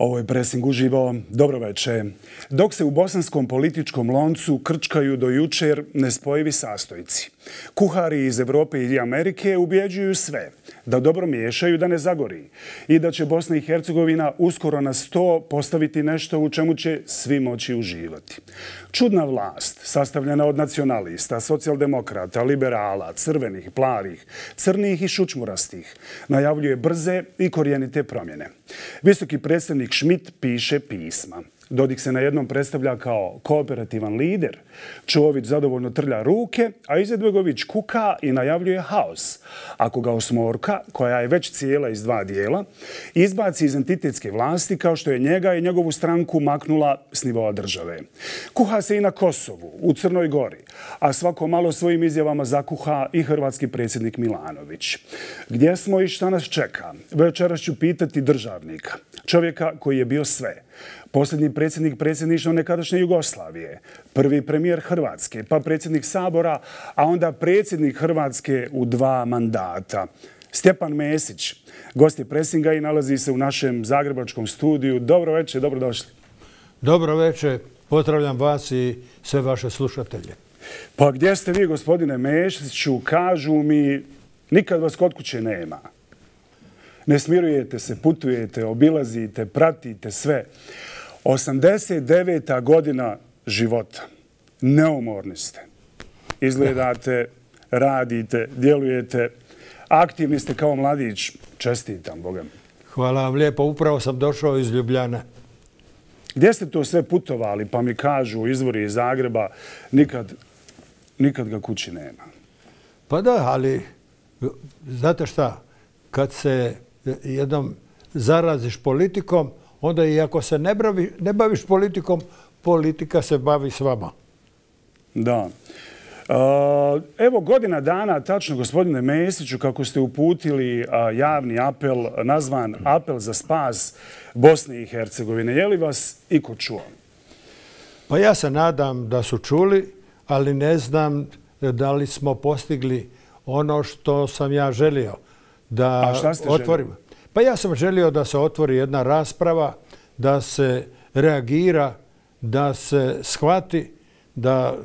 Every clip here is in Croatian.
Ovo je Presing uživo. Dobro večer. Dok se u bosanskom političkom loncu krčkaju do jučer nespojivi sastojci, kuhari iz Europe i Amerike ubjeđuju sve da dobro miješaju da ne zagori i da će Bosna i Hercegovina uskoro na sto postaviti nešto u čemu će svi moći uživati. Čudna vlast, sastavljena od nacionalista, socijaldemokrata, liberala, crvenih, plavih, crnih i šučmurastih, najavljuje brze i korijenite promjene. Visoki predstavnik Schmidt piše pisma. Dodik se na jednom predstavlja kao kooperativan lider. Čović zadovoljno trlja ruke, a Izetbegović kuka i najavljuje haos. Ako ga osmorka, koja je već cijela iz dva dijela, izbaci iz entitetske vlasti kao što je njega i njegovu stranku maknula s nivoa države. Kuha se i na Kosovu, u Crnoj Gori, a svako malo svojim izjavama zakuha i hrvatski predsjednik Milanović. Gdje smo i šta nas čeka? Večeras ću pitati državnika, čovjeka koji je bio sve. Posljednji predsjednik predsjedništva nekadašnje Jugoslavije, prvi premijer Hrvatske, pa predsjednik Sabora, a onda predsjednik Hrvatske u 2 mandata. Stjepan Mesić, gost je Presinga i nalazi se u našem zagrebačkom studiju. Dobro večer, dobrodošli. Dobro večer, pozdravljam vas i sve vaše slušatelje. Pa gdje ste vi, gospodine Mesiću? Kažu mi, nikad vas kod kuće nema. Ne smirujete se, putujete, obilazite, pratite sve. 89. godina života. Neumorni ste. Izgledate, radite, djelujete. Aktivni ste kao mladić. Čestitam, Boga mi. Hvala vam lijepo. Upravo sam došao iz Ljubljane. Gdje ste to sve putovali? Pa mi kažu izvori iz Zagreba, nikad ga kući nema. Pa da, ali znate šta? Kad se jednom zaraziš politikom, onda i ako se ne baviš politikom, politika se bavi s vama. Da. Evo godina dana, tačno gospodine Mesiću, kako ste uputili javni apel, nazvan Apel za spas Bosne i Hercegovine. Je li vas iko čuo? Pa ja se nadam da su čuli, ali ne znam da li smo postigli ono što sam ja želio da otvorimo. Pa ja sam želio da se otvori jedna rasprava, da se reagira, da se shvati da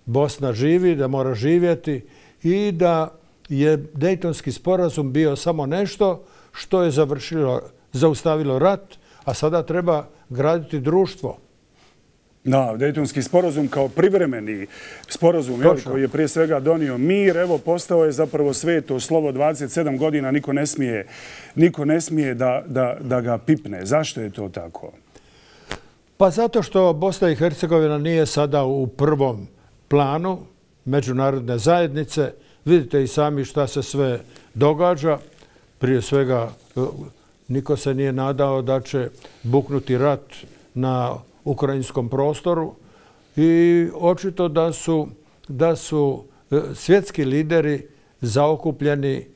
Bosna živi, da mora živjeti i da je Dejtonski sporazum bio samo nešto što je zaustavilo rat, a sada treba graditi društvo. Da, Dejtonski sporazum kao privremeni sporazum koji je prije svega donio mir, evo postao je zapravo sveto slovo 27 godina, niko ne smije da ga pipne. Zašto je to tako? Pa zato što Bosna i Hercegovina nije sada u prvom planu međunarodne zajednice. Vidite i sami šta se sve događa. Prije svega niko se nije nadao da će buknuti rat na ukrajinskom prostoru i očito da su svjetski lideri zaokupljeni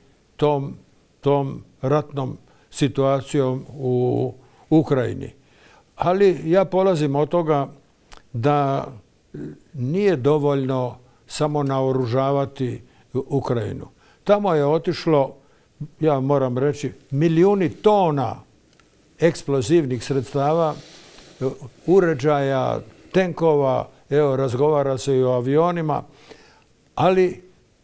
tom ratnom situacijom u Ukrajini. Ali ja polazim od toga da nije dovoljno samo naoružavati Ukrajinu. Tamo je otišlo, ja moram reći, milijuni tona eksplozivnih sredstava, uređaja, tenkova, evo razgovara se i o avionima, ali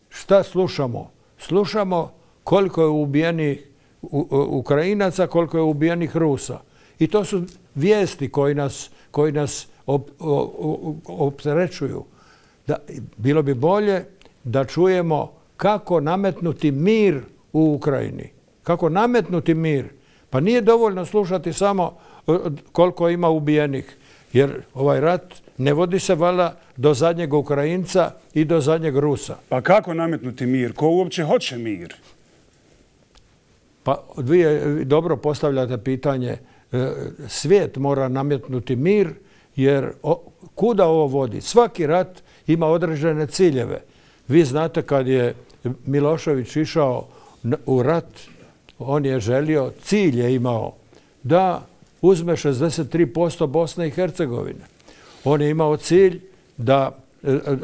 šta slušamo? Slušamo koliko je ubijenih Ukrajinaca, koliko je ubijenih Rusa. I to su vijesti koji nas opterećuju. Bilo bi bolje da čujemo kako nametnuti mir u Ukrajini. Kako nametnuti mir. Pa nije dovoljno slušati samo koliko ima ubijenih, jer ovaj rat ne vodi se valjda do zadnjeg Ukrajinca i do zadnjeg Rusa. Pa kako nametnuti mir? Ko uopće hoće mir? Pa vi dobro postavljate pitanje. Svijet mora nametnuti mir, jer kuda ovo vodi? Svaki rat ima određene ciljeve. Vi znate kad je Milošević išao u rat, on je želio, cilj je imao da uzme 63% Bosne i Hercegovine. On je imao cilj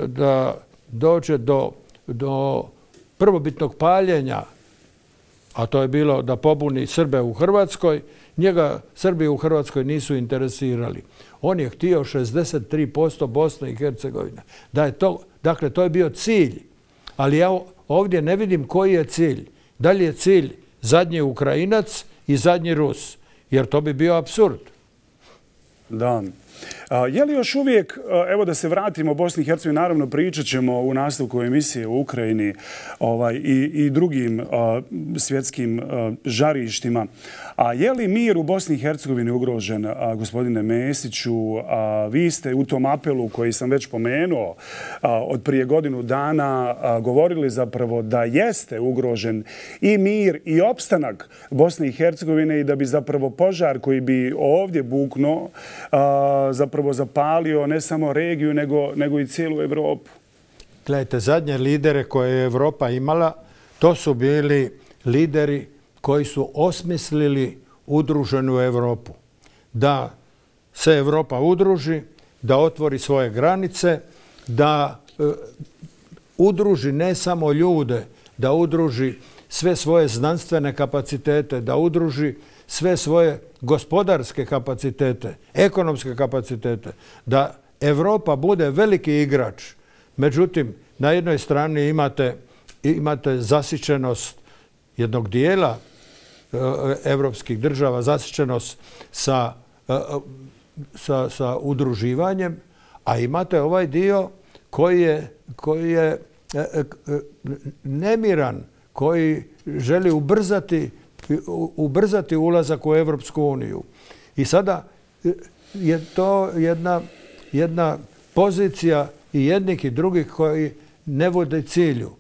da dođe do prvobitnog paljenja, a to je bilo da pobuni Srbe u Hrvatskoj Njega Srbi u Hrvatskoj nisu interesirali. On je htio 63% Bosne i Hercegovine. Dakle, to je bio cilj. Ali ja ovdje ne vidim koji je cilj. Da li je cilj zadnji Ukrajinac i zadnji Rus? Jer to bi bio apsurd. Da. Je li još uvijek, evo da se vratimo u Bosni i Hercegovini, naravno pričat ćemo u nastavku emisije u Ukrajini i drugim svjetskim žarištima. A je li mir u Bosni i Hercegovini ugrožen, gospodine Mesiću? Vi ste u tom apelu koji sam već pomenuo od prije godinu dana govorili zapravo da jeste ugrožen i mir i opstanak Bosne i Hercegovine i da bi zapravo požar koji bi ovdje buknuo zapravo zapalio ne samo regiju nego i cijelu Evropu. Gledajte, zadnje lidere koje je Evropa imala, to su bili lideri koji su osmislili udruženu Evropu. Da se Evropa udruži, da otvori svoje granice, da udruži ne samo ljude, da udruži sve svoje znanstvene kapacitete, da udruži sve svoje gospodarske kapacitete, ekonomske kapacitete, da Evropa bude veliki igrač. Međutim, na jednoj strani imate zasićenost jednog dijela evropskih država, zasićenost sa udruživanjem, a imate ovaj dio koji je nemiran, koji želi ubrzati ulazak u Evropsku uniju. I sada je to jedna pozicija i jednih i drugih koji ne vode cilju.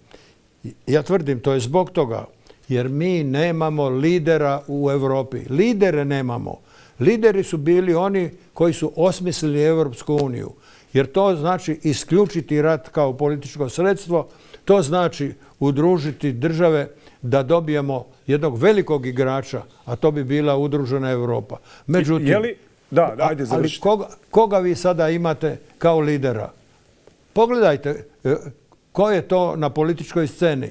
Ja tvrdim, to je zbog toga jer mi nemamo lidera u Europi. Lidere nemamo. Lideri su bili oni koji su osmislili Evropsku uniju. Jer to znači isključiti rat kao političko sredstvo, to znači udružiti države da dobijemo jednog velikog igrača, a to bi bila udružena Europa. Međutim, ali koga vi sada imate kao lidera? Pogledajte ko je to na političkoj sceni.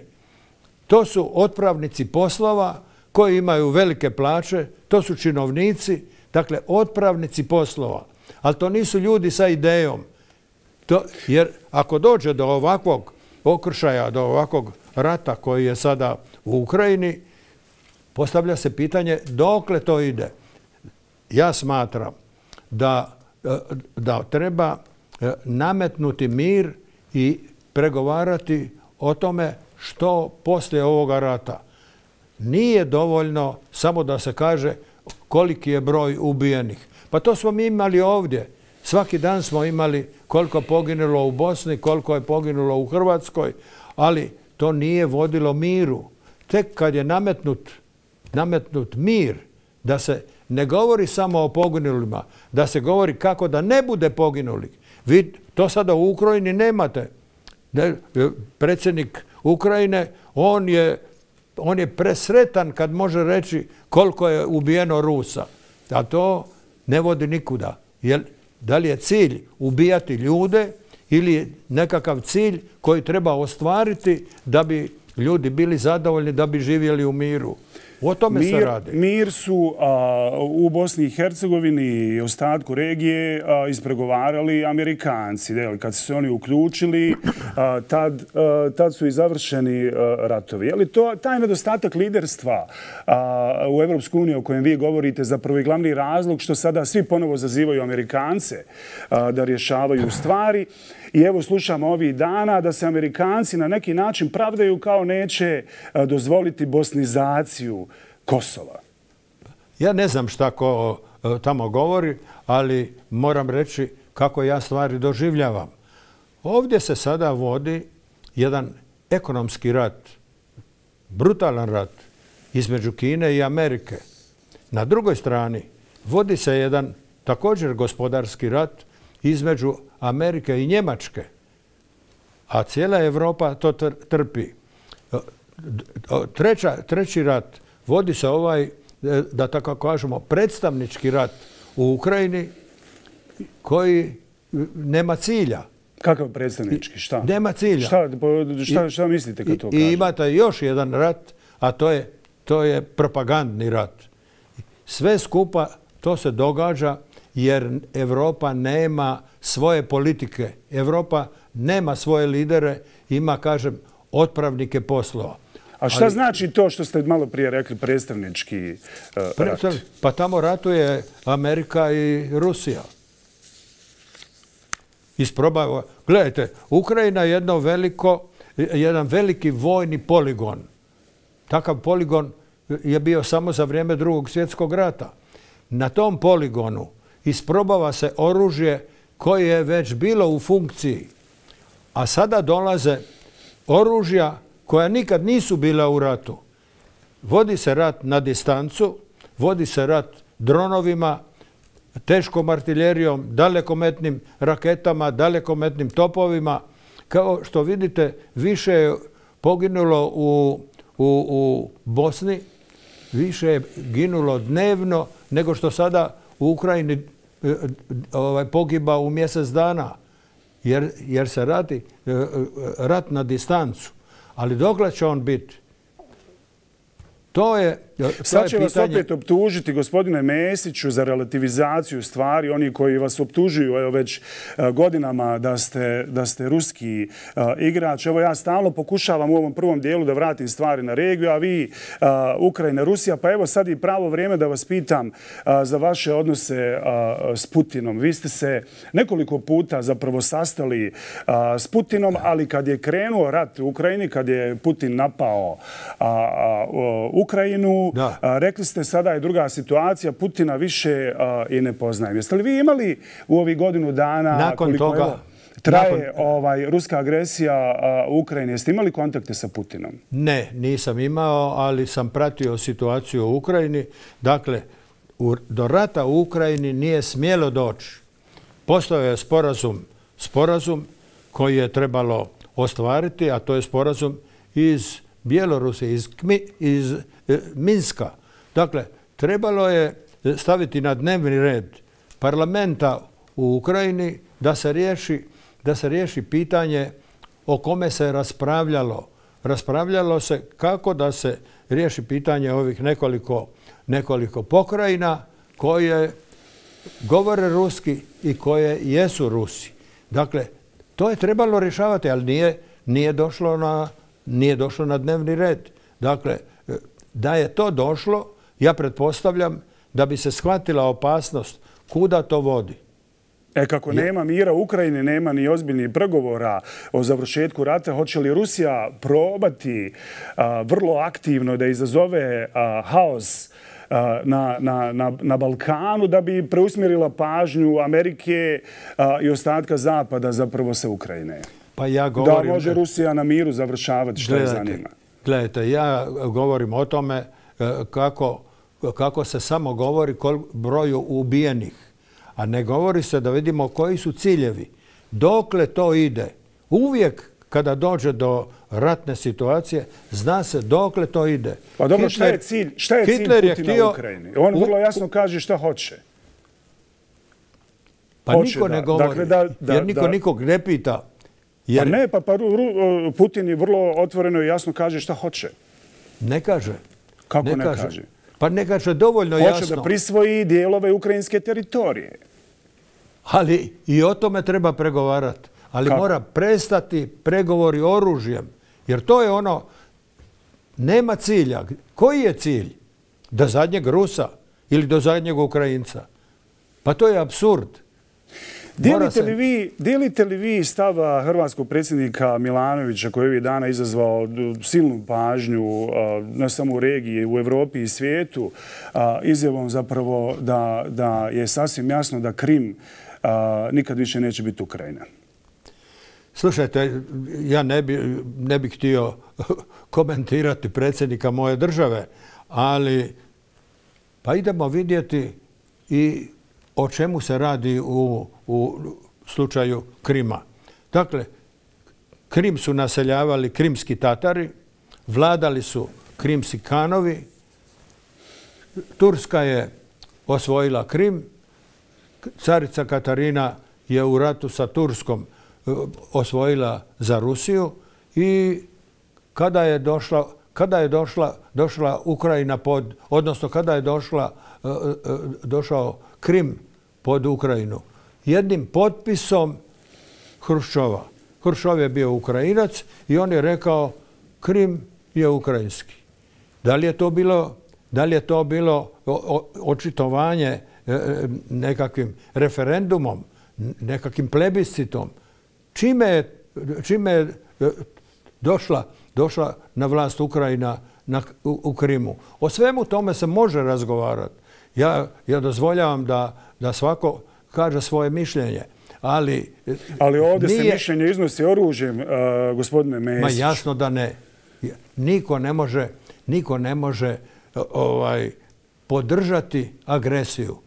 To su otpravnici poslova koji imaju velike plaće, to su činovnici, dakle otpravnici poslova. Ali to nisu ljudi sa idejom. Jer ako dođe do ovakvog okršaja, do ovakvog rata koji je sada u Ukrajini, postavlja se pitanje dokle to ide. Ja smatram da treba nametnuti mir i pregovarati o tome što poslije ovoga rata. Nije dovoljno samo da se kaže koliki je broj ubijenih. Pa to smo mi imali ovdje. Svaki dan smo imali koliko je poginulo u Bosni, koliko je poginulo u Hrvatskoj, ali to nije vodilo miru. Tek kad je nametnut mir, da se ne govori samo o poginulima, da se govori kako da ne bude poginulih. Vi to sada u Ukrajini nemate. Predsjednik Ukrajine, on je presretan kad može reći koliko je ubijeno Rusa. A to ne vodi nikuda. Da li je cilj ubijati ljude ili je nekakav cilj koji treba ostvariti da bi ljudi bili zadovoljni, da bi živjeli u miru? O tome se radi. Mir su u Bosni i Hercegovini i ostatku regije ispregovarali Amerikanci. Kad su se oni uključili, tad su i završeni ratovi. Je li to taj nedostatak liderstva u Evropsku uniju o kojem vi govorite zapravo i glavni razlog što sada svi ponovo zazivaju Amerikance da rješavaju stvari? I evo slušamo ovih dana da se Amerikanci na neki način pravdaju kao neće dozvoliti bosnizaciju Kosova. Ja ne znam šta ko tamo govori, ali moram reći kako ja stvari doživljavam. Ovdje se sada vodi jedan ekonomski rat, brutalan rat između Kine i Amerike. Na drugoj strani vodi se jedan također gospodarski rat između Amerike i Njemačke, a cijela Europa to trpi. Treći rat vodi se da tako kažemo, predstavnički rat u Ukrajini koji nema cilja. Kakav predstavnički? Šta? Nema cilja. Šta mislite kad to kažete? I imate još jedan rat, a to je propagandni rat. sve skupa to se događa jer Europa nema svoje politike. Europa nema svoje lidere, ima, kažem, otpravnike poslova. A šta znači to što ste malo prije rekli, predstavnički rat? Pa tamo ratuje Amerika i Rusija. Gledajte, Ukrajina je jedan veliki vojni poligon. Takav poligon je bio samo za vrijeme Drugog svjetskog rata. Na tom poligonu isprobava se oružje koje je već bilo u funkciji. A sada dolaze oružja koja nikad nisu bila u ratu. Vodi se rat na distancu, vodi se rat dronovima, teškom artiljerijom, dalekometnim raketama, dalekometnim topovima. Kao što vidite, više je poginulo u Bosni, više je ginulo dnevno nego što sada u Ukrajini pogiba u mjesec dana. Jer se radi rat na distancu. Ali dokle će on biti? Sad će vas opet optužiti, gospodine Mesiću, za relativizaciju stvari. Oni koji vas optužuju već godinama da ste ruski igrač. Evo ja stalno pokušavam u ovom prvom dijelu da vratim stvari na regiju, a vi Ukrajina, Rusija. Pa evo sad je pravo vrijeme da vas pitam za vaše odnose s Putinom. Vi ste se nekoliko puta zapravo sastali s Putinom, ali kad je krenuo rat u Ukrajini, kad je Putin napao Ukrajinu, rekli ste sada je druga situacija, Putina više i ne poznajem. Jeste li vi imali u ovih godinu dana, koliko traje ruska agresija u Ukrajini, jeste imali kontakte sa Putinom? Ne, nisam imao, ali sam pratio situaciju u Ukrajini. Dakle, do rata u Ukrajini nije smjelo doći. Postojao je sporazum koji je trebalo ostvariti, a to je sporazum iz Bjelorusije, iz Minska. Dakle, trebalo je staviti na dnevni red parlamenta u Ukrajini da se riješi pitanje o kome se raspravljalo. Raspravljalo se kako da se riješi pitanje ovih nekoliko pokrajina koje govore ruski i koje jesu Rusi. Dakle, to je trebalo rješavati, ali nije došlo na dnevni red. Dakle, da je to došlo, ja pretpostavljam da bi se shvatila opasnost kuda to vodi. Kako nema mira u Ukrajini, nema ni ozbiljnih pregovora o završetku rata, hoće li Rusija probati vrlo aktivno da izazove haos na Balkanu da bi preusmjerila pažnju Amerike i ostatka Zapada zapravo sa Ukrajine? Da može Rusija na miru završavati, što je zanima. Gledajte, ja govorim o tome kako se samo govori broju ubijenih, a ne govori se da vidimo koji su ciljevi. Dokle to ide? Uvijek kada dođe do ratne situacije, zna se dokle to ide. Pa dobro, šta je cilj Putina u Ukrajini? On vrlo jasno kaže šta hoće. Pa niko ne govori, jer niko nikog ne pita. Pa ne, pa Putin je vrlo otvoreno i jasno kaže šta hoće. Ne kaže. Kako ne kaže? Pa ne kaže dovoljno jasno. Hoće da prisvoji dijelove ukrajinske teritorije. Ali i o tome treba pregovarati. Ali mora prestati pregovori oružjem. Jer to je ono, nema cilja. Koji je cilj? Do zadnjeg Rusa ili do zadnjeg Ukrajinca? Pa to je apsurd. Dijelite li vi stava hrvatskog predsjednika Milanovića koji je ovih dana izazvao silnu pažnju ne samo u regiji, u Europi i svijetu, izjavom zapravo da je sasvim jasno da Krim nikad više neće biti Ukrajina? Slušajte, ja ne bih htio komentirati predsjednika moje države, ali pa idemo vidjeti i o čemu se radi u slučaju Krima. Dakle, Krim su naseljavali krimski Tatari, vladali su krimski Kanovi, Turska je osvojila Krim, carica Katarina je u ratu sa kada je došla Ukrajina odnosno kada je došao Krim pod Ukrajinu? Jednim potpisom Hruščova. Hruščov je bio Ukrajinac i on je rekao Krim je ukrajinski. Da li je to bilo očitovanje nekakvim referendumom, nekakvim plebiscitom? Čime je došla na vlast Ukrajina u Krimu? O svemu tome se može razgovarati. Ja dozvoljavam da svako kaže svoje mišljenje. Ali ovdje se mišljenje iznosi oružjem, gospodine Mesić. Ma jasno da ne. Niko ne može podržati agresiju.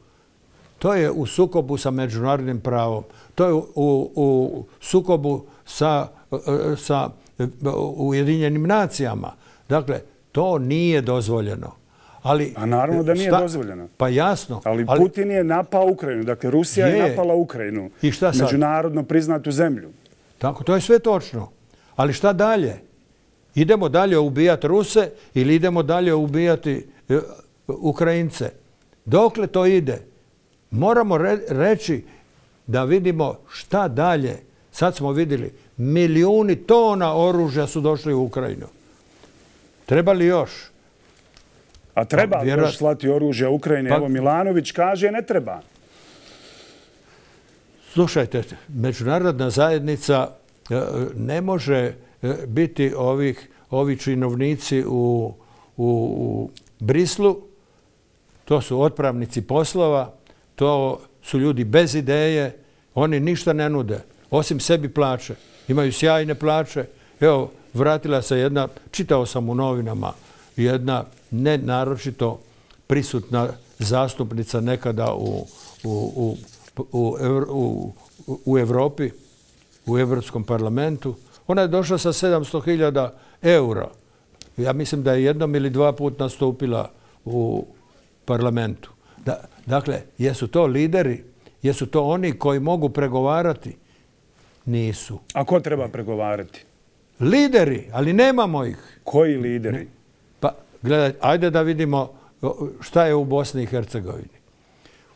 To je u sukobu sa međunarodnim pravom. To je u sukobu sa Ujedinjenim nacijama. Dakle, to nije dozvoljeno. A naravno da nije dozvoljeno. Pa jasno. Ali Putin je napao Ukrajinu. Dakle, Rusija je napala Ukrajinu. I šta sad? Međunarodno priznatu zemlju. Tako, to je sve točno. Ali šta dalje? Idemo dalje ubijati Ruse ili idemo dalje ubijati Ukrajince? Dokle to ide? Moramo reći da vidimo šta dalje. Sad smo vidjeli, milijuni tona oružja su došli u Ukrajinu. Treba li još? A treba li još slati oružje u Ukrajini? Evo Milanović kaže ne treba. Slušajte, međunarodna zajednica ne može biti ovi činovnici u Brislu. To su otpravnici poslova, to su ljudi bez ideje, oni ništa ne nude, osim sebi plaće. Imaju sjajne plaće. Evo, vratila se jedna, čitao sam u novinama, jedna ne naročito prisutna zastupnica nekada u Europi, u Europskom parlamentu. Ona je došla sa 700.000 eura. Ja mislim da je jednom ili dva put nastupila u parlamentu. Dakle, jesu to lideri? Jesu to oni koji mogu pregovarati? Nisu. A ko treba pregovarati? Lideri, ali nemamo ih. Koji lideri? Pa, gledaj, ajde da vidimo šta je u Bosni i Hercegovini.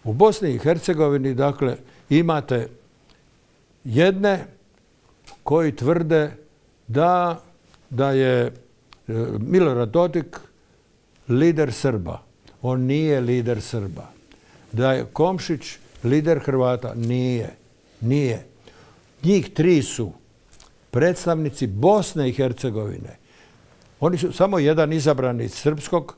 U Bosni i Hercegovini, dakle, imate jedne koji tvrde da je Milorad Dodik lider Srba. On nije lider Srba. Da je Komšić lider Hrvata. Nije. Njih tri su predstavnici Bosne i Hercegovine. Oni su samo jedan izabran iz srpskog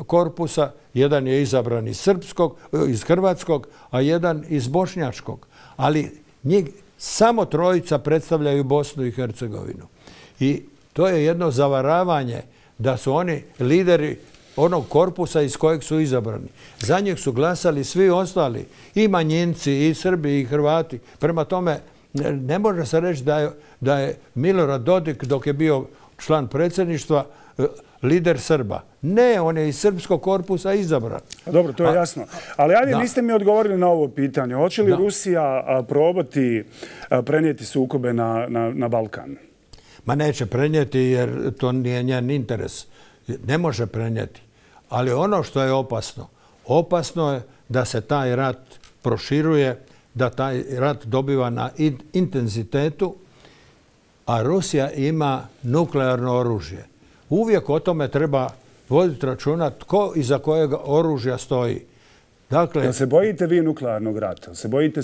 korpusa, jedan je izabran iz hrvatskog, a jedan iz bošnjačkog. Ali njih samo trojica predstavljaju Bosnu i Hercegovinu. I to je jedno zavaravanje da su oni lideri onog korpusa iz kojeg su izabrani. Za njih su glasali svi ostali, i manjinci, i Srbi, i Hrvati. Prema tome, ne može se reći da je Milorad Dodik, dok je bio član predsjedništva, lider Srba. Ne, on je iz srpskog korpusa izabran. Dobro, to je jasno. Ali ajde, niste mi odgovorili na ovo pitanje. Hoće li Rusija probati prenijeti sukobe na Balkan? Ma neće prenijeti jer to nije njen interes. Ne može prenijeti. Ali ono što je opasno je da se taj rat proširuje, da taj rat dobiva na intenzitetu, a Rusija ima nuklearno oružje. Uvijek o tome treba voditi računa tko iza kojeg oružja stoji. Dakle, jel se bojite vi nuklearnog rata? Se bojite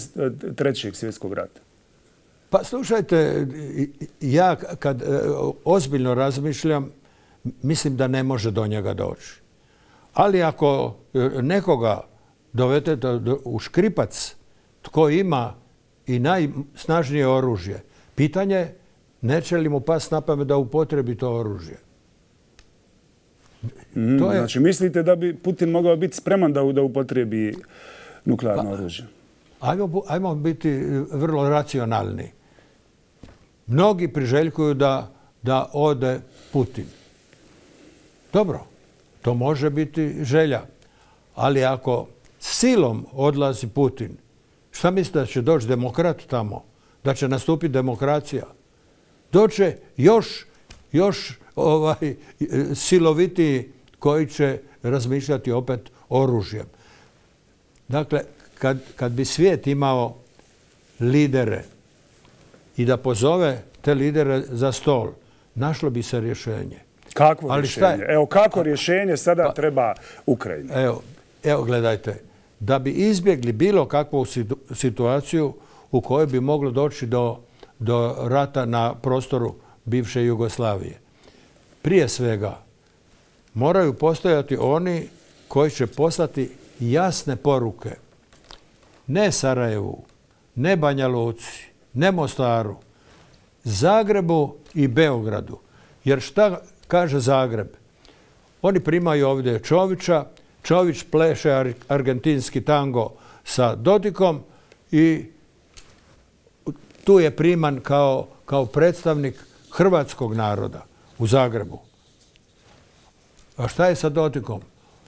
Trećeg svjetskog rata? Pa slušajte, ja kad ozbiljno razmišljam, mislim da ne može do njega doći. Ali ako nekoga dovedete u škripac tko ima i najsnažnije oružje, pitanje neće li mu pasti na pamet da upotrebi to oružje. Znači, mislite da bi Putin mogao biti spreman da upotrebi nuklearno oružje? Ajmo biti vrlo racionalni. Mnogi priželjkuju da ode Putin. Dobro, to može biti želja. Ali ako silom odlazi Putin, šta mislite da će doći demokrat tamo? Da će nastupiti demokracija? Doće još silovitiji koji će razmišljati opet oružjem. Dakle, kad bi svijet imao lidere i da pozove te lidere za stol, našlo bi se rješenje. Kakvo rješenje? Evo, kako rješenje sada treba Ukrajini? Evo, gledajte. Da bi izbjegli bilo kakvu situaciju u kojoj bi moglo doći do rata na prostoru bivše Jugoslavije. Prije svega, moraju postojati oni koji će poslati jasne poruke. Ne Sarajevu, ne Banja Luci, ne Mostaru, Zagrebu i Beogradu. Jer šta kaže Zagreb? Oni primaju ovdje Čovića, Čović pleše argentinski tango sa Dodikom i tu je priman kao predstavnik hrvatskog naroda u Zagrebu. A šta je sa Dodikom?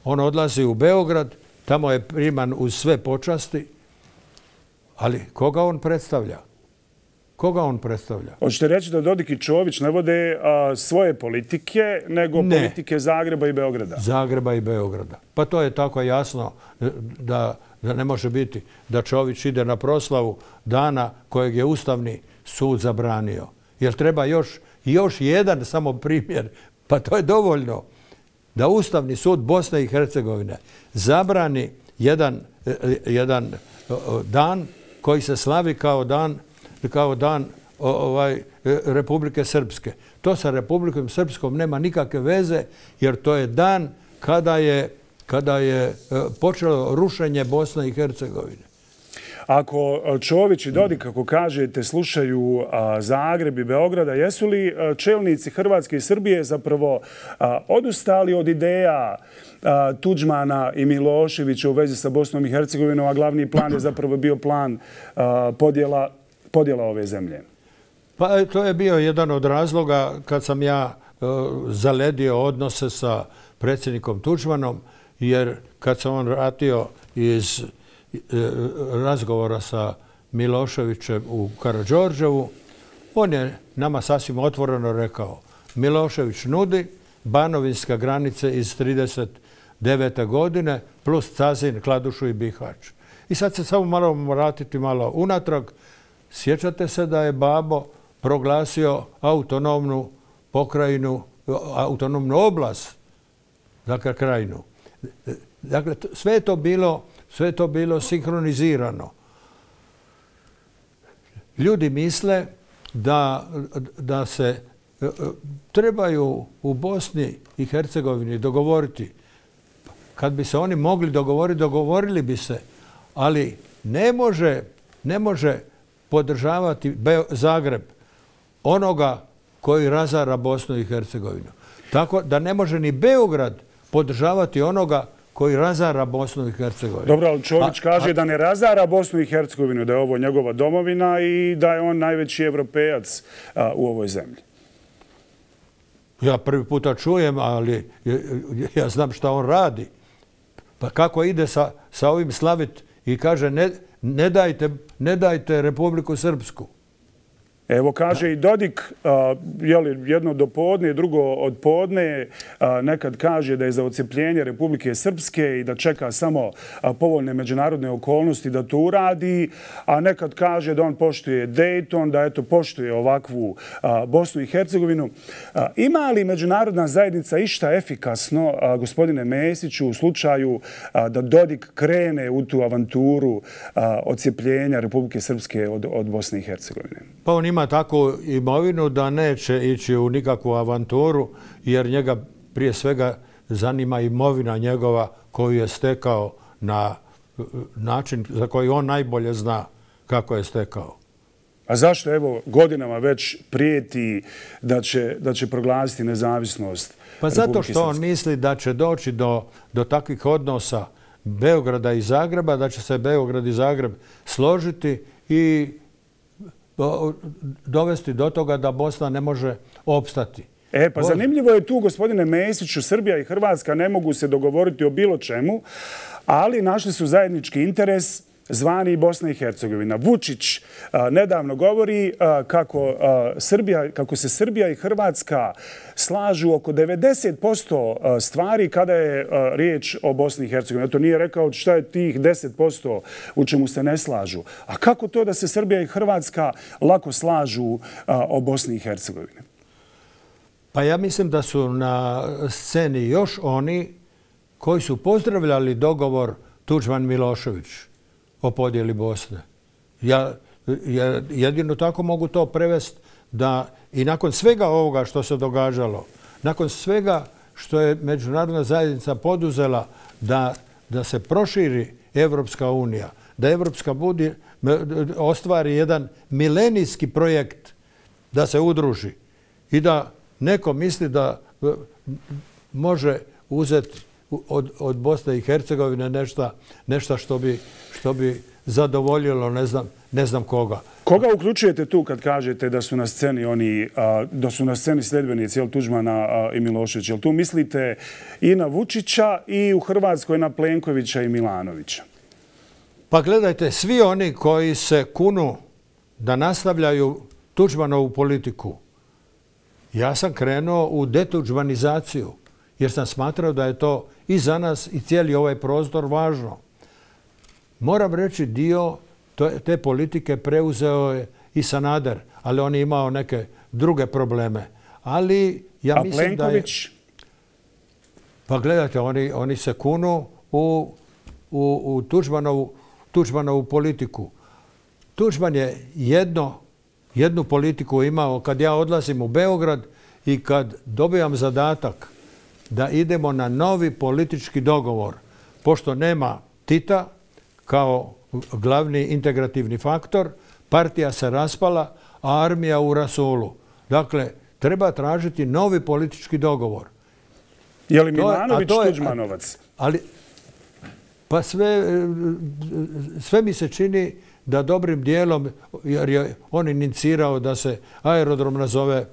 On odlazi u Beograd, tamo je priman uz sve počasti, ali koga on predstavlja? Koga on predstavlja? Hoćete reći da Dodik i Čović ne vode svoje politike, nego politike Zagreba i Beograda? Zagreba i Beograda. Pa to je tako jasno da ne može biti da Čović ide na proslavu dana kojeg je Ustavni sud zabranio. Jer treba još jedan samo primjer, pa to je dovoljno da Ustavni sud Bosne i Hercegovine zabrani jedan dan koji se slavi kao dan Republike Srpske. To sa Republikom Srpskom nema nikakve veze, jer to je dan kada je počelo rušenje Bosne i Hercegovine. Ako Čović i Dodik, kako kažete, slušaju Zagreb i Beograda, jesu li čelnici Hrvatske i Srbije zapravo odustali od ideja Tuđmana i Miloševića u vezi sa Bosnom i Hercegovinom, a glavni plan je zapravo bio plan podjela ove zemlje? Pa to je bio jedan od razloga kad sam ja zaledio odnose sa predsjednikom Tuđmanom, jer kad sam on vratio iz razgovora sa Miloševićem u Karađorđevu, on je nama sasvim otvoreno rekao: Milošević nudi banovinska granice iz 1939. godine plus Cazin, Kladušu i Bihać. I sad se samo moramo vratiti malo unatrag. Sjećate se da je Babo proglasio autonomnu pokrajinu, autonomnu oblast, dakle krajinu. Dakle, sve je to bilo sinhronizirano. Ljudi misle da se trebaju u Bosni i Hercegovini dogovoriti. Kad bi se oni mogli dogovoriti, dogovorili bi se, ali ne može podržavati Zagreb onoga koji razara Bosnu i Hercegovinu. Tako da ne može ni Beograd podržavati onoga koji razara Bosnu i Hercegovinu. Dobro, ali Čović kaže da ne razara Bosnu i Hercegovinu, da je ovo njegova domovina i da je on najveći evropejac u ovoj zemlji. Ja prvi puta čujem, ali ja znam šta on radi. Pa kako ide sa ovim slavit i kaže ne dajte Republiku Srpsku. Evo, kaže i Dodik, jedno do podne, drugo od podne, nekad kaže da je za odcepljenje Republike Srpske i da čeka samo povoljne međunarodne okolnosti da to uradi, a nekad kaže da on poštuje Dayton, da eto poštuje ovakvu Bosnu i Hercegovinu. Ima li međunarodna zajednica išta efikasno, gospodine Mesiću, u slučaju da Dodik krene u tu avanturu odcepljenja Republike Srpske od Bosne i Hercegovine? Pa on ima takvu imovinu da neće ići u nikakvu avanturu, jer njega prije svega zanima imovina njegova koju je stekao na način za koji on najbolje zna kako je stekao. A zašto evo godinama već prijeti da će proglasiti nezavisnost Republike Srpske? Pa zato što on misli da će doći do takvih odnosa Beograda i Zagreba, da će se Beograd i Zagreb složiti i dovesti do toga da Bosna ne može opstati. Pa zanimljivo je tu, gospodine Mesiću, Srbija i Hrvatska ne mogu se dogovoriti o bilo čemu, ali našli su zajednički interes zvani Bosna i Hercegovina. Vučić nedavno govori kako se Srbija i Hrvatska slažu oko 90% stvari kada je riječ o Bosni i Hercegovini. To nije rekao šta je tih 10% u čemu se ne slažu. A kako to da se Srbija i Hrvatska lako slažu o Bosni i Hercegovini? Pa ja mislim da su na sceni još oni koji su pozdravljali dogovor Tuđman-Milošević o podjeli Bosne. Ja jedino tako mogu to prevesti da i nakon svega ovoga što se događalo, nakon svega što je međunarodna zajednica poduzela da se proširi Evropska unija, da Evropska ostvari jedan milenijski projekt da se udruži i da neko misli da može uzeti od Bosne i Hercegovine nešto što bi zadovoljilo ne znam koga. Koga uključujete tu kad kažete da su na sceni sljedbenici Tuđmana i Miloševića? Jel tu mislite i na Vučića i u Hrvatskoj na Plenkovića i Milanovića? Pa gledajte, svi oni koji se kunu da nastavljaju Tuđmanovu politiku, ja sam krenuo u detuđmanizaciju jer sam smatrao da je to i za nas i cijeli ovaj prostor važno. Moram reći, dio te politike preuzeo je i Sanader, ali on je imao neke druge probleme. Ali ja mislim da je... Pa gledajte, oni se kunu u Tuđmanovu politiku. Tuđman je jednu politiku imao kad ja odlazim u Beograd i kad dobijam zadatak da idemo na novi politički dogovor. Pošto nema Tita kao glavni integrativni faktor, partija se raspala, a armija u rasulu. Dakle, treba tražiti novi politički dogovor. Je li Milanović Tuđmanovac? Pa sve mi se čini da dobrim dijelom, jer je on inicirao da se aerodrom nazove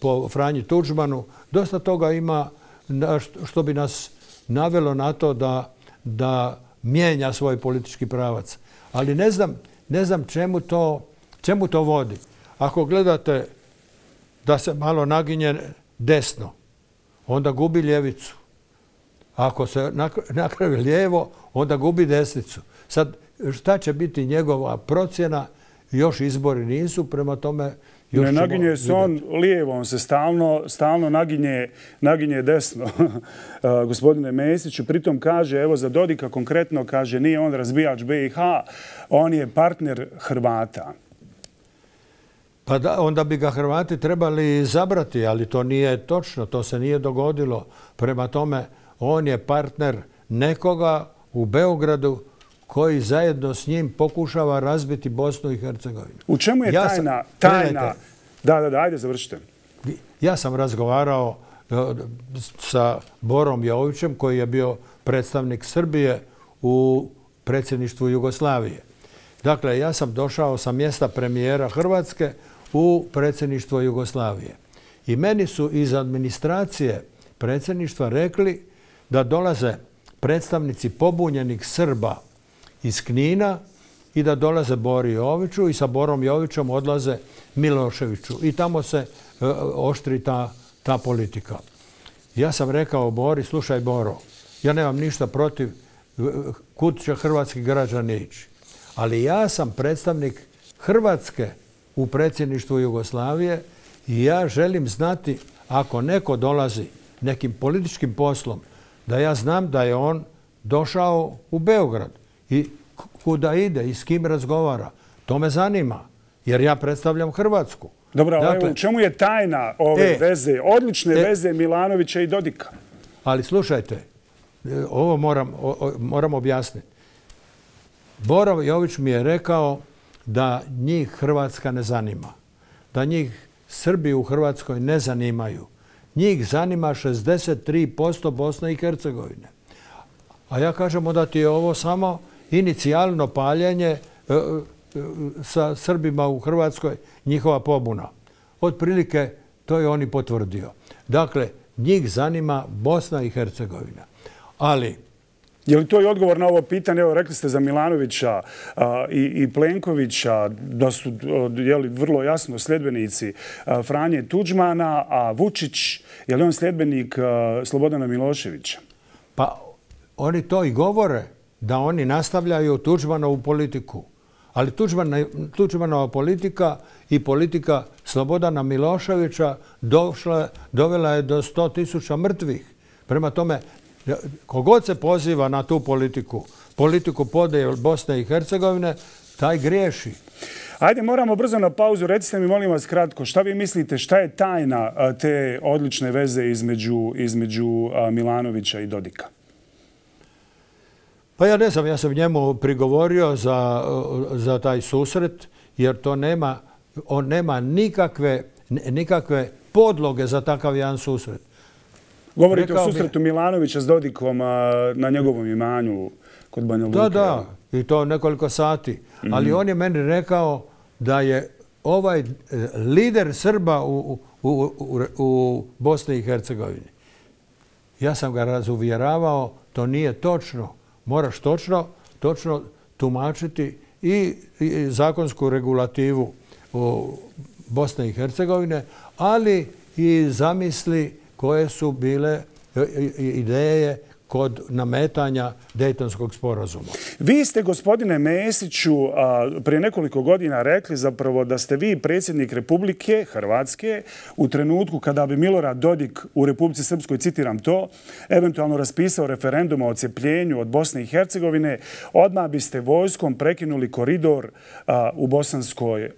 po Franji Tuđmanu, dosta toga ima što bi nas navelo na to da mijenja svoj politički pravac. Ali ne znam čemu to vodi. Ako gledate da se malo naginje desno, onda gubi ljevicu. Ako se napravi lijevo, onda gubi desnicu. Sad, šta će biti njegova procjena? Još izbori nisu, prema tome... Ne naginje se on lijevo, on se stalno naginje desno. Gospodine Mesiću, pritom kaže, evo za Dodika konkretno, kaže, nije on razbijač BiH, on je partner Hrvata. Pa da, onda bi ga Hrvati trebali zabrati, ali to nije točno, to se nije dogodilo. Prema tome, on je partner nekoga u Beogradu koji zajedno s njim pokušava razbiti Bosnu i Hercegovinu. U čemu je tajna? Da, ajde, završite. Ja sam razgovarao sa Borom Jovićem, koji je bio predstavnik Srbije u predsjedništvu Jugoslavije. Dakle, ja sam došao sa mjesta premijera Hrvatske u predsjedništvo Jugoslavije. I meni su iz administracije predsjedništva rekli da dolaze predstavnici pobunjenih Srba iz Knina i da dolaze Bori Joviću i sa Borom Jovićem odlaze Miloševiću. I tamo se oštri ta politika. Ja sam rekao Bori, slušaj Boro, ja nemam ništa protiv kud će hrvatski građani ići. Ali ja sam predstavnik Hrvatske u predsjedništvu Jugoslavije i ja želim znati ako neko dolazi nekim političkim poslom, da ja znam da je on došao u Beograd i kuda ide i s kim razgovara. To me zanima, jer ja predstavljam Hrvatsku. Dobro, dakle, u čemu je tajna ove veze, odlične veze Milanovića i Dodika? Ali slušajte, ovo moram objasniti. Boro Jović mi je rekao da njih Hrvatska ne zanima, da njih Srbi u Hrvatskoj ne zanimaju. Njih zanima 63% Bosne i Hercegovine. A ja kažem da ti je ovo samo inicijalno paljenje sa Srbima u Hrvatskoj, njihova pobuna. Otprilike to je on i potvrdio. Dakle, njih zanima Bosna i Hercegovina. Ali Je li to i odgovor na ovo pitanje? Evo, rekli ste za Milanovića i Plenkovića da su vrlo jasno sljedbenici Franje Tuđmana, a Vučić, je li on sljedbenik Slobodana Miloševića? Pa oni to i govore, da oni nastavljaju Tuđmanovu politiku. Ali Tuđmanova politika i politika Slobodana Miloševića dovela je do 100.000 mrtvih. Prema tome, kogod se poziva na tu politiku podjele Bosne i Hercegovine, taj griješi. Ajde, moramo brzo na pauzu. Recite mi, molim vas, kratko, šta vi mislite, šta je tajna te odlične veze između Milanovića i Dodika? Pa ja ne znam, ja sam njemu prigovorio za taj susret, jer on nema nikakve podloge za takav jedan susret. Govorite o susretu Milanovića s Dodikom na njegovom imanju kod Banja Luke. Da, i to nekoliko sati. Ali on je meni rekao da je ovaj lider Srba u Bosni i Hercegovini. Ja sam ga razuvjeravao, to nije točno. Moraš točno tumačiti i zakonsku regulativu Bosne i Hercegovine, ali i zamisli koje su bile ideje kod nametanja Dejtonskog sporazuma. Vi ste, gospodine Mesiću, prije nekoliko godina rekli zapravo da ste vi predsjednik Republike Hrvatske u trenutku kada bi Milorad Dodik u Republici Srpskoj, citiram to, eventualno raspisao referendum o odcepljenju od Bosne i Hercegovine, odmah biste vojskom prekinuli koridor u Bosanskoj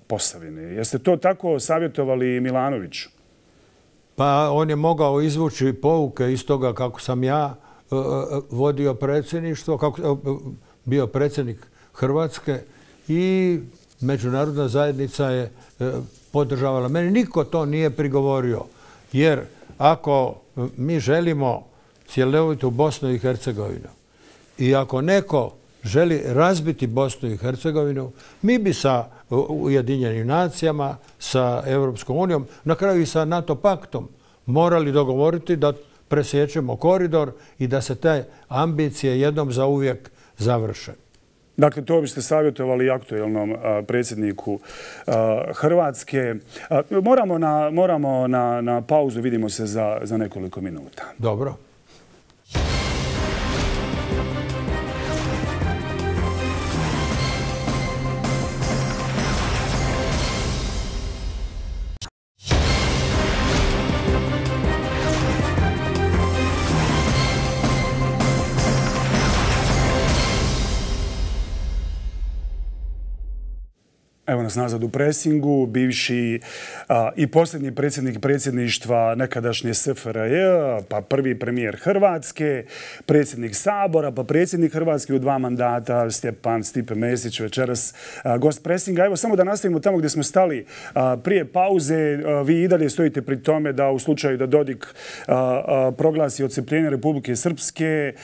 Posavini. Jeste to tako savjetovali Milanoviću? Pa on je mogao izvući pouke iz toga kako sam ja vodio predsjedništvo, kako bio predsjednik Hrvatske i međunarodna zajednica je podržavala. Meni niko to nije prigovorio, jer ako mi želimo cjelovitu Bosnu i Hercegovinu i ako neko želi razbiti Bosnu i Hercegovinu, mi bi sa Ujedinjenim nacijama, sa Europskom unijom, na kraju i sa NATO paktom morali dogovoriti da presjećemo koridor i da se te ambicije jednom zauvijek završe. Dakle, to biste savjetovali aktuelnom predsjedniku Hrvatske. Moramo na pauzu, vidimo se za nekoliko minuta. Dobro. Evo nas nazad u presingu, bivši i posljednji predsjednik predsjedništva nekadašnje SFRJ, pa prvi premijer Hrvatske, predsjednik Sabora, pa predsjednik Hrvatske u 2 mandata, Stipe Mesić, večeras gost presinga. Evo samo da nastavimo tamo gdje smo stali prije pauze. Vi i dalje stojite pri tome da u slučaju da Dodik proglasi odcepljenje Republike Srpske,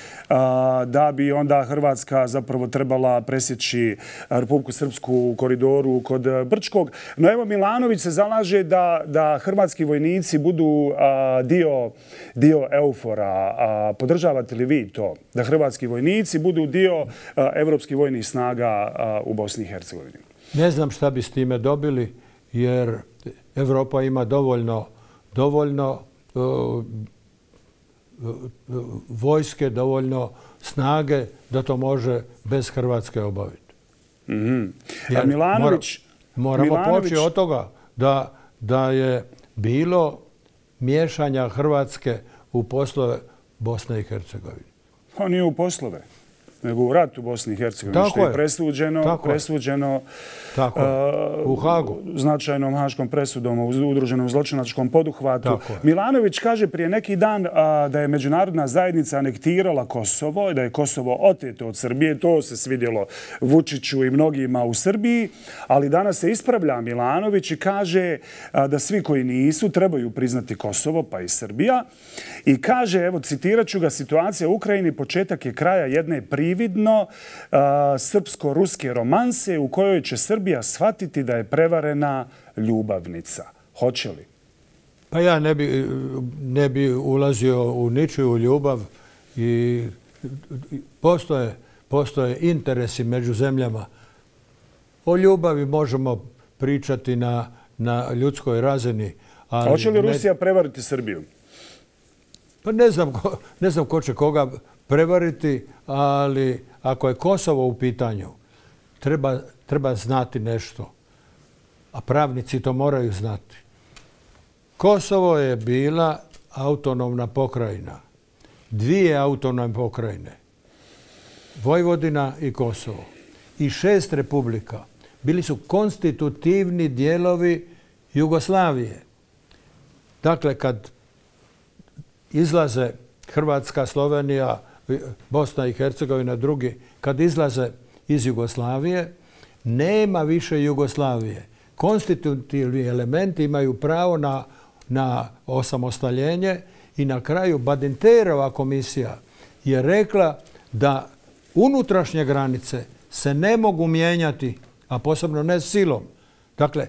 da bi onda Hrvatska zapravo trebala presjeći Republiku Srpsku u koridoru kod Brčkog. No evo, Milanović se zalaže da hrvatski vojnici budu dio EUFOR-a. Podržavate li vi to? Da hrvatski vojnici budu dio evropskih vojnih snaga u Bosni i Hercegovini? Ne znam šta bi s time dobili, jer Evropa ima dovoljno vojske, dovoljno snage da to može bez Hrvatske obaviti. Moramo poći od toga da je bilo miješanja Hrvatske u poslove Bosne i Hercegovine. Pa nije u poslove, nego u rat u Bosni i Hercegovini, što je presuđeno u Hagu. Značajnom haškom presudom u udruženom zločinačkom poduhvatu. Milanović kaže prije neki dan da je međunarodna zajednica anektirala Kosovo i da je Kosovo oteto od Srbije. To se svidjelo Vučiću i mnogima u Srbiji, ali danas se ispravlja Milanović i kaže da svi koji nisu trebaju priznati Kosovo, pa i Srbija. I kaže, evo citirat ću ga, situacija u Ukrajini početak je kraja jedne prividno srpsko-ruske romanse u kojoj će Srbija shvatiti da je prevarena ljubavnica. Hoće li? Pa ja ne bi ulazio u ničiju ljubav i postoje interesi među zemljama. O ljubavi možemo pričati na ljudskoj razini. A hoće li Rusija prevariti Srbiju? Pa ne znam ko će koga prevariti, ali ako je Kosovo u pitanju, treba znati nešto. A pravnici to moraju znati. Kosovo je bila autonomna pokrajina. 2 autonomne pokrajine. Vojvodina i Kosovo. I 6 republika. Bili su konstitutivni dijelovi Jugoslavije. Dakle, kad izlaze Hrvatska, Slovenija, Bosna i Hercegovina, drugi, kad izlaze iz Jugoslavije, nema više Jugoslavije. Konstitutivni elementi imaju pravo na osamostaljenje i na kraju Badinterova komisija je rekla da unutrašnje granice se ne mogu mijenjati, a posebno ne silom. Dakle,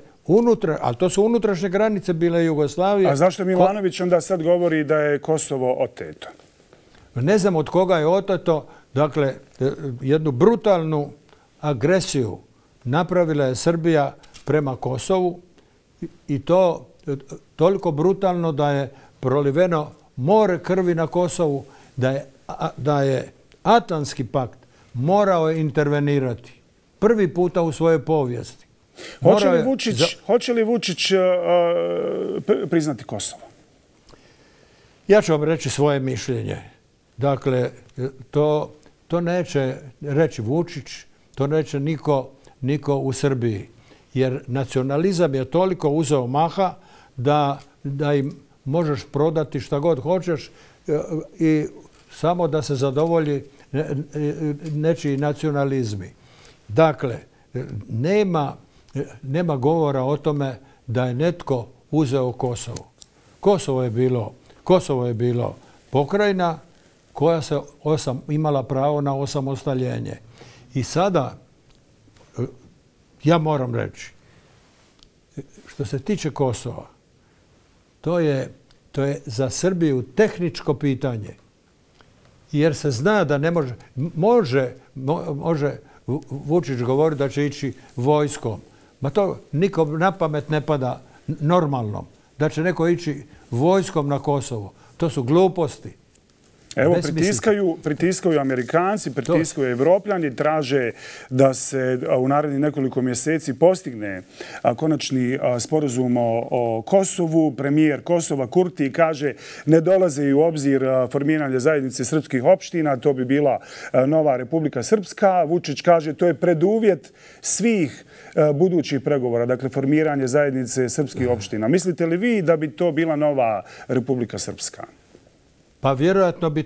ali to su unutrašnje granice bile Jugoslavije. A zašto Milanović onda sad govori da je Kosovo oteto? Ne znam od koga je oteto. Dakle, jednu brutalnu agresiju napravila je Srbija prema Kosovu i to toliko brutalno da je proliveno more krvi na Kosovu, da je Atlantski pakt morao intervenirati prvi puta u svojoj povijesti. Hoće li Vučić priznati Kosovo? Ja ću vam reći svoje mišljenje. Dakle, to neće reći Vučić, to neće niko u Srbiji. Jer nacionalizam je toliko uzeo maha da im možeš prodati šta god hoćeš i samo da se zadovolji nečiji nacionalizmi. Dakle, nema govora o tome da je netko uzeo Kosovo. Kosovo je bilo pokrajina koja se imala pravo na osamostaljenje. I sada, ja moram reći, što se tiče Kosova, to je za Srbiju tehničko pitanje. Jer se zna da ne može Vučić govoriti da će ići vojskom. Ma to nikom na pamet ne pada normalno. Da će neko ići vojskom na Kosovo. To su gluposti. Evo, pritiskaju Amerikanci, pritiskaju Evropljani, traže da se u narednih nekoliko mjeseci postigne konačni sporazum o Kosovu. Premijer Kosova Kurti kaže ne dolaze u obzir formiranje zajednice srpskih opština, to bi bila nova Republika Srpska. Vučić kaže to je preduvjet svih budućih pregovora, dakle formiranje zajednice srpskih opština. Mislite li vi da bi to bila nova Republika Srpska? Pa vjerojatno bi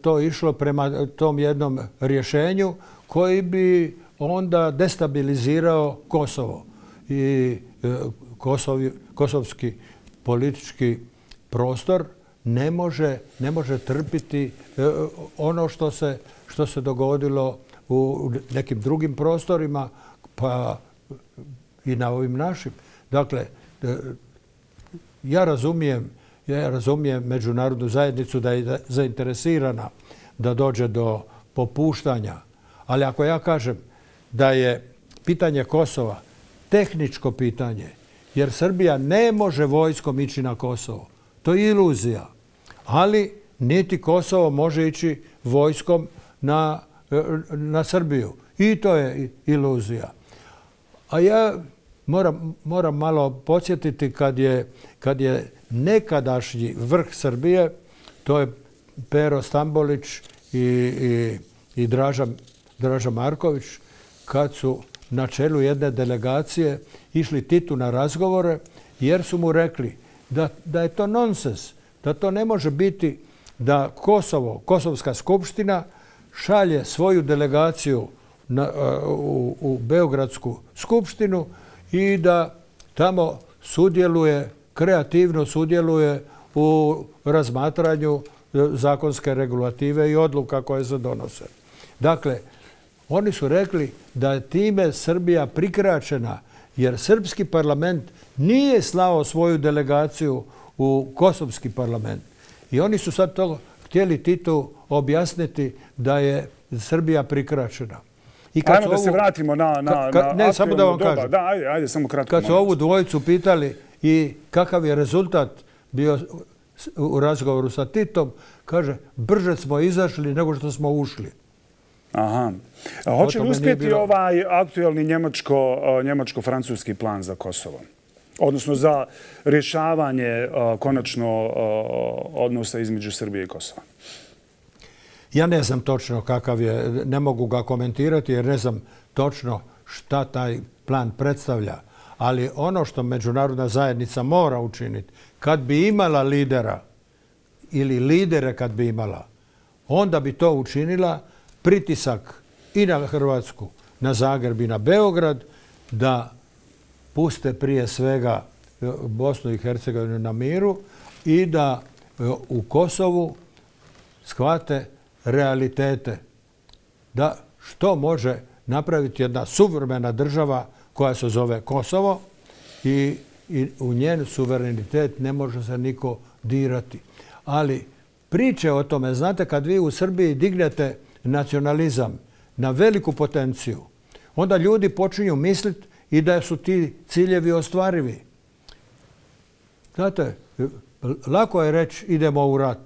to išlo prema tom jednom rješenju koji bi onda destabilizirao Kosovo. I kosovski politički prostor ne može trpiti ono što se dogodilo u nekim drugim prostorima, pa i na ovim našim. Dakle, ja razumijem međunarodnu zajednicu da je zainteresirana da dođe do popuštanja. Ali ako ja kažem da je pitanje Kosova tehničko pitanje, jer Srbija ne može vojskom ići na Kosovo, to je iluzija. Ali niti Kosovo može ići vojskom na Srbiju. I to je iluzija. A ja moram malo podsjetiti kad je nekadašnji vrh Srbije, to je Pero Stambolić i Draža Marković, kad su na čelu jedne delegacije išli Titu na razgovore, jer su mu rekli da je to nonsens, da to ne može biti da Kosovska skupština šalje svoju delegaciju u Beogradsku skupštinu i da tamo kreativno sudjeluje u razmatranju zakonske regulative i odluka koje se donose. Dakle, oni su rekli da je time Srbija prikraćena jer srpski parlament nije slao svoju delegaciju u kosovski parlament. I oni su sad to htjeli Titu objasniti da je Srbija prikraćena. Ajmo da se vratimo na ne, samo da vam kažem. Da, ajde, samo kratko. Kad su ovu dvojicu pitali i kakav je rezultat bio u razgovoru sa Titom, kaže, brže smo izašli nego što smo ušli. Aha. Hoće li uspjeti ovaj aktuelni njemačko-francuski plan za Kosovo? Odnosno za rješavanje konačno odnosa između Srbije i Kosova? Ja ne znam točno kakav je, ne mogu ga komentirati jer ne znam točno šta taj plan predstavlja. Ali ono što međunarodna zajednica mora učiniti, kad bi imala lidera ili lidere kad bi imala, onda bi to učinila pritisak i na Hrvatsku, na Zagreb i na Beograd da puste prije svega Bosnu i Hercegovinu na miru i da u Kosovu shvate realitete. Da što može napraviti jedna suvremena država koja se zove Kosovo i u njen suverenitet ne može se niko dirati. Ali priče o tome, znate, kad vi u Srbiji dignete nacionalizam na veliku potenciju, onda ljudi počinju misliti i da su ti ciljevi ostvarivi. Znate, lako je reći idemo u rat,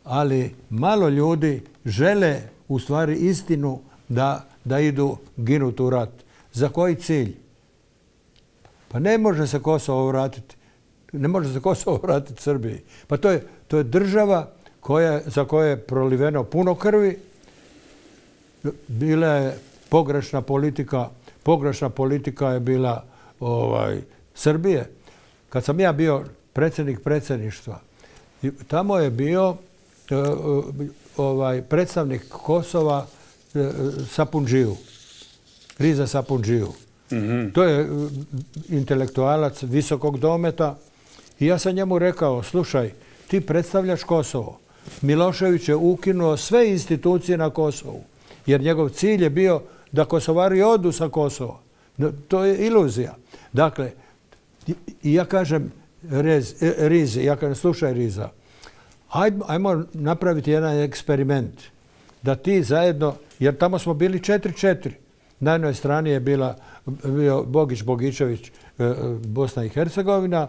ali malo ljudi žele u stvari istinu da idu ginuti u rat. Za koji cilj? Pa ne može se Kosovo vratiti. Ne može se Kosovo vratiti Srbiji. Pa to je država za koju je proliveno puno krvi. Bila je pogrešna politika. Pogrešna politika je bila Srbije. Kad sam ja bio predsjednik predsjedništva, tamo je bio predstavnik Kosova Sapundžiju. Riza Sapundžiju. To je intelektualac visokog dometa i ja sam njemu rekao, slušaj, ti predstavljaš Kosovo. Milošević je ukinuo sve institucije na Kosovu, jer njegov cilj je bio da Kosovari odu sa Kosova. To je iluzija. Dakle, ja kažem Rizi, ja kažem, slušaj Riza, ajmo napraviti jedan eksperiment da ti zajedno, jer tamo smo bili 4-4. Na jednoj strani je bio Bogić, Bogičević, Bosna i Hercegovina,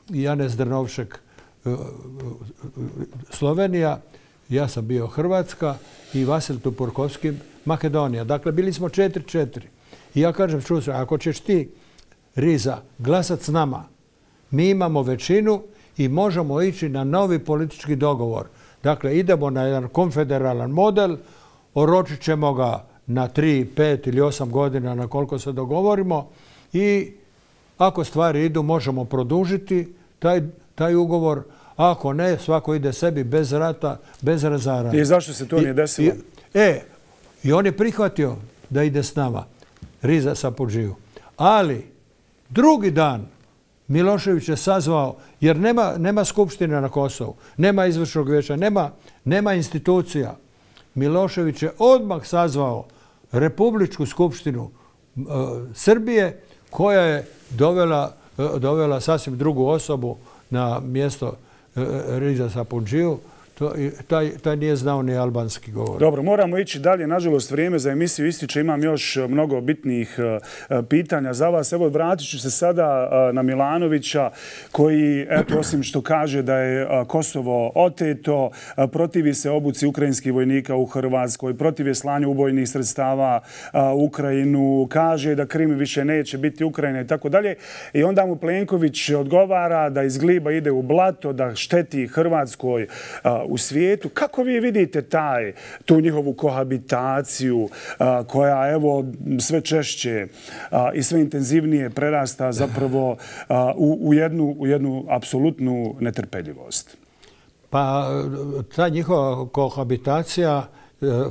Janez Drnovšek, Slovenija, ja sam bio Hrvatska i Vasil Tupurkovski, Makedonija. Dakle, bili smo 4-4. I ja kažem, čuvaj, ako ćeš ti, Riza, glasat s nama, mi imamo većinu i možemo ići na novi politički dogovor. Dakle, idemo na jedan konfederalan model, oročit ćemo ga na 3, 5 ili 8 godina na koliko se dogovorimo i ako stvari idu možemo produžiti taj ugovor, a ako ne, svako ide sebi bez rata, bez razaranja. I zašto se to nije desilo? I on je prihvatio da ide s nama, Riza Sapundžiju. Ali drugi dan Milošević je sazvao, jer nema skupštine na Kosovu, nema izvršnog vijeća, nema institucija. Milošević je odmah sazvao Republičku skupštinu Srbije koja je dovela sasvim drugu osobu na mjesto Riza Sapundžiju. Taj nije znao ni albanski govor. Dobro, moramo ići dalje. Nažalost, vrijeme za emisiju ističe. Imam još mnogo bitnih pitanja za vas. Evo, vratit ću se sada na Milanovića koji, eto, osim što kaže da je Kosovo oteto, protivi se obuci ukrajinskih vojnika u Hrvatskoj, protivi slanju ubojnih sredstava u Ukrajinu, kaže da Krim više neće biti Ukrajina i tako dalje. I onda mu Plenković odgovara da iz gliba ide u blato, da šteti Hrvatskoj u svijetu. Kako vi vidite tu njihovu kohabitaciju koja evo sve češće i sve intenzivnije prerasta zapravo u jednu apsolutnu netrpeljivost? Pa ta njihova kohabitacija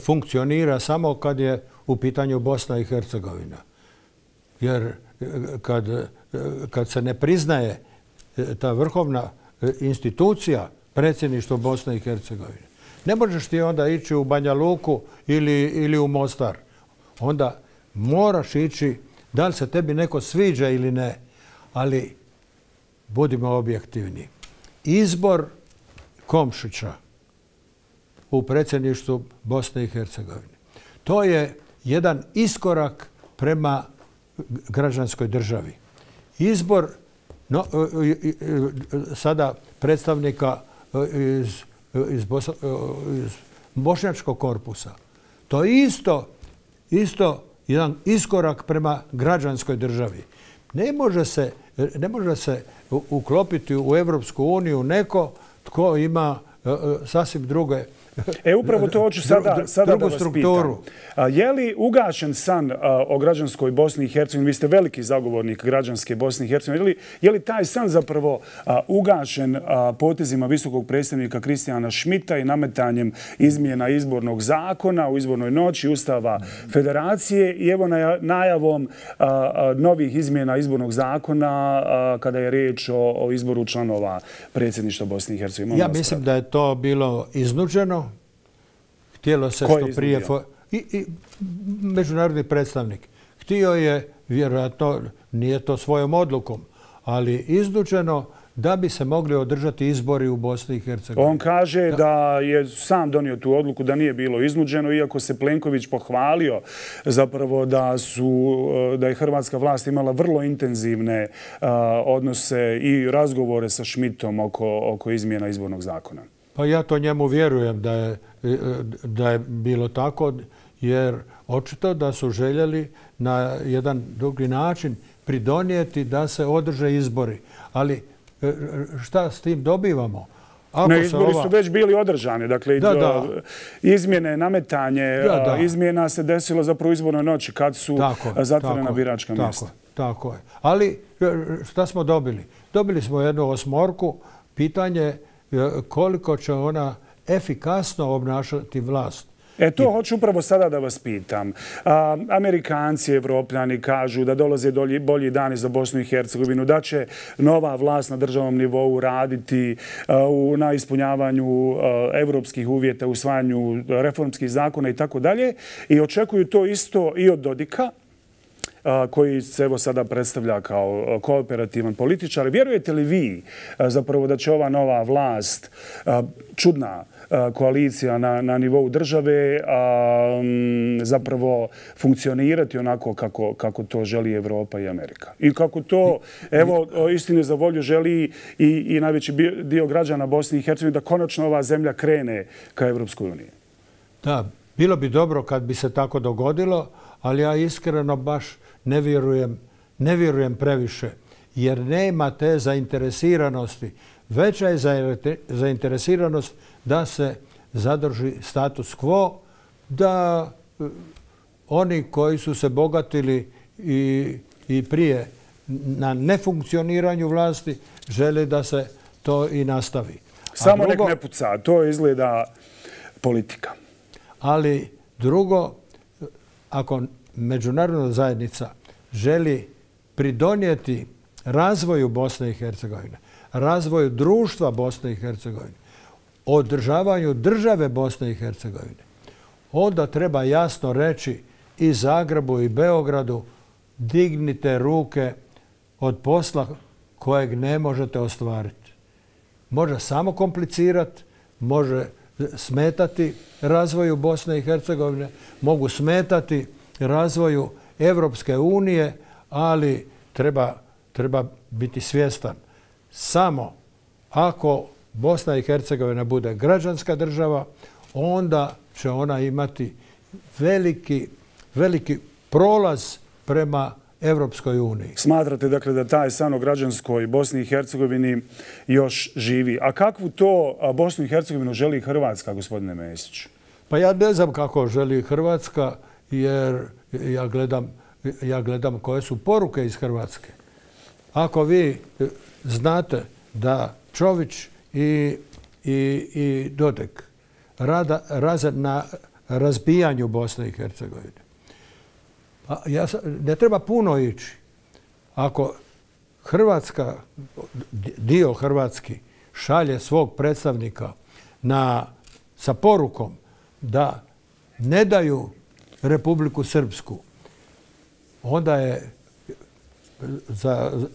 funkcionira samo kad je u pitanju Bosna i Hercegovina. Jer kad se ne priznaje ta vrhovna institucija, predsjedništvo Bosne i Hercegovine, ne možeš ti onda ići u Banja Luku ili u Mostar. Onda moraš ići, da li se tebi neko sviđa ili ne, ali budimo objektivni. Izbor Komšića u predsjedništvu Bosne i Hercegovine. To je jedan iskorak prema građanskoj državi. Izbor sada predstavnika iz bošnjačkog korpusa. To je isto jedan iskorak prema građanskoj državi. Ne može se uklopiti u Europsku uniju neko tko ima sasvim druge upravo to hoću sada da vas pitam. Je li ugašen san o građanskoj Bosni i Hercegovini? Vi ste veliki zagovornik građanske Bosne i Hercegovine. Je li taj san zapravo ugašen potezima visokog predstavnika Kristijana Šmita i nametanjem izmjena izbornog zakona u izbornoj noći Ustava Federacije i evo najavom novih izmjena izbornog zakona kada je riječ o izboru članova predsjedništva Bosne i Hercegovine? Ja mislim da je to bilo iznuđeno. Htjelo se što prije... I međunarodni predstavnik. Htio je, vjerojatno nije to svojom odlukom, ali iznuđeno da bi se mogli održati izbori u Bosni i Hercegovini. On kaže da je sam donio tu odluku, da nije bilo iznuđeno, iako se Plenković pohvalio zapravo da je hrvatska vlast imala vrlo intenzivne odnose i razgovore sa Šmitom oko izmjena izbornog zakona. Pa ja to njemu vjerujem da je bilo tako, jer očito da su željeli na jedan drugi način pridonijeti da se održe izbori. Ali šta s tim dobivamo? Izbori su već bili održani. Dakle, izmjene, nametanje izmjena se desilo zapravo u izbornoj noći kad su zatvorena biračka mjesta. Tako je. Ali šta smo dobili? Dobili smo jednu osmorku. Pitanje koliko će ona efikasno obnašati vlast. To hoću upravo sada da vas pitam. Amerikanci, Evropljani kažu da dolaze bolji dani za Bosnu i Hercegovinu, da će nova vlast na državnom nivou raditi na ispunjavanju evropskih uvjeta, usvajanju reformskih zakona i tako dalje. I očekuju to isto i od Dodika, koji se evo sada predstavlja kao kooperativan političar. Vjerujete li vi zapravo da će ova nova vlast, čudna koalicija na nivou države, zapravo funkcionirati onako kako to želi Evropa i Amerika? I kako to, evo, istine za volju želi i najveći dio građana Bosne i Hercegovine da konačno ova zemlja krene ka Evropskoj uniji? Da, bilo bi dobro kad bi se tako dogodilo, ali ja iskreno baš ne vjerujem previše, jer nema te zainteresiranosti. Veća je zainteresiranost da se zadrži status quo, da oni koji su se bogatili i prije na nefunkcioniranju vlasti žele da se to i nastavi. Samo nek ne puca, to izgleda politika. Ali drugo, ako međunarodna zajednica želi pridonijeti razvoju Bosne i Hercegovine, razvoju društva Bosne i Hercegovine, održavanju države Bosne i Hercegovine, onda treba jasno reći i Zagrebu i Beogradu: dignite ruke od posla kojeg ne možete ostvariti. Može samo komplicirati, može smetati razvoju Bosne i Hercegovine, mogu smetati razvoju Evropske unije, ali treba biti svjestan. Samo ako Bosna i Hercegovina bude građanska država, onda će ona imati veliki prolaz prema Evropskoj uniji. Smatrate dakle da taj san o građanskoj Bosni i Hercegovini još živi. A kakvu to Bosnu i Hercegovinu želi Hrvatska, gospodine Mesić? Pa ja ne znam kako želi Hrvatska, jer ja gledam koje su poruke iz Hrvatske. Ako vi znate da Čović i Dodik rade na razbijanju Bosne i Hercegovine, ne treba puno ići. Ako Hrvatska, dio Hrvatski, šalje svog predstavnika sa porukom da ne daju Republiku Srpsku, onda je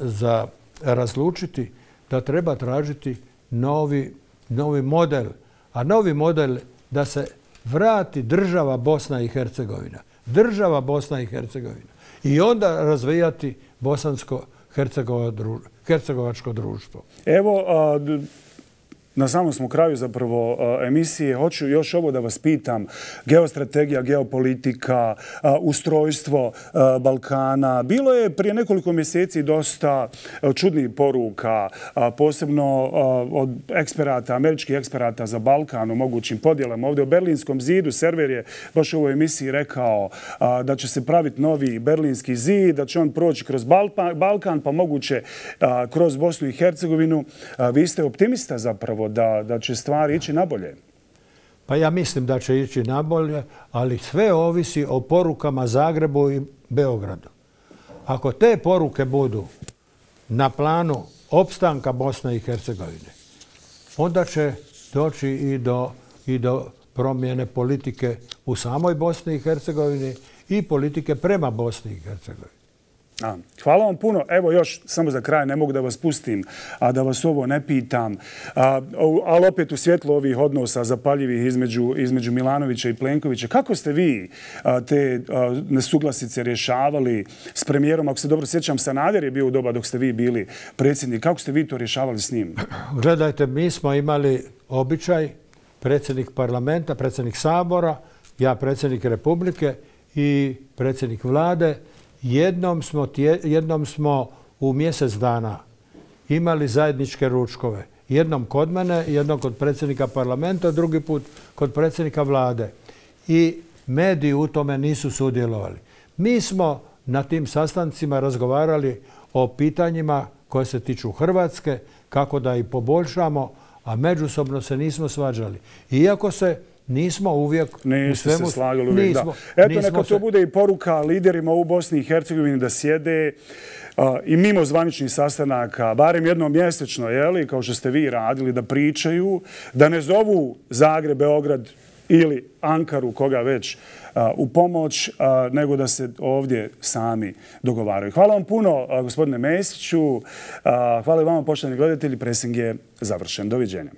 za razlučiti da treba tražiti novi novi model, a novi model da se vrati država Bosna i Hercegovina. Država Bosna i Hercegovina. I onda razvijati bosansko-hercegovačko društvo. Evo, na samom smo kraju zapravo emisije. Hoću još ovo da vas pitam. Geostrategija, geopolitika, ustrojstvo Balkana. Bilo je prije nekoliko mjeseci dosta čudnih poruka, posebno od eksperata, američkih eksperata za Balkan o mogućim podjelama. Ovdje u Berlinskom zidu server je baš u ovoj emisiji rekao da će se praviti novi Berlinski zid, da će on proći kroz Balkan, pa moguće kroz Bosnu i Hercegovinu. Vi ste optimista zapravo da će stvari ići nabolje? Pa ja mislim da će ići nabolje, ali sve ovisi o porukama Zagrebu i Beogradu. Ako te poruke budu na planu opstanka Bosne i Hercegovine, onda će doći i do promjene politike u samoj Bosni i Hercegovini i politike prema Bosni i Hercegovini. Hvala vam puno. Evo još, samo za kraj, ne mogu da vas pustim, a da vas ovo ne pitam. Ali opet u svjetlu ovih odnosa zapaljivih između Milanovića i Plenkovića. Kako ste vi te nesuglasice rješavali s premijerom? Ako se dobro sjećam, Sanader je bio u doba dok ste vi bili predsjednik. Kako ste vi to rješavali s njim? Gledajte, mi smo imali običaj, predsjednik parlamenta, predsjednik Sabora, ja predsjednik Republike i predsjednik vlade. Jednom smo u mjesec dana imali zajedničke ručkove. Jednom kod mene, jednom kod predsjednika parlamenta, drugi put kod predsjednika vlade. I mediji u tome nisu sudjelovali. Mi smo na tim sastancima razgovarali o pitanjima koje se tiču Hrvatske, kako da ih poboljšamo, a međusobno se nismo svađali. Iako se nismo uvijek u svemu... se slagali uvijek, da. Eto, neka to bude i poruka liderima u Bosni i Hercegovini da sjede i mimo zvaničnih sastanaka, barem jednom mjesečno, kao što ste vi radili, da pričaju, da ne zovu Zagreb, Beograd ili Ankaru, koga već, u pomoć, nego da se ovdje sami dogovaraju. Hvala vam puno, gospodine Mesiću. Hvala i vama, poštovani gledatelji. Presing je završen. Doviđenja.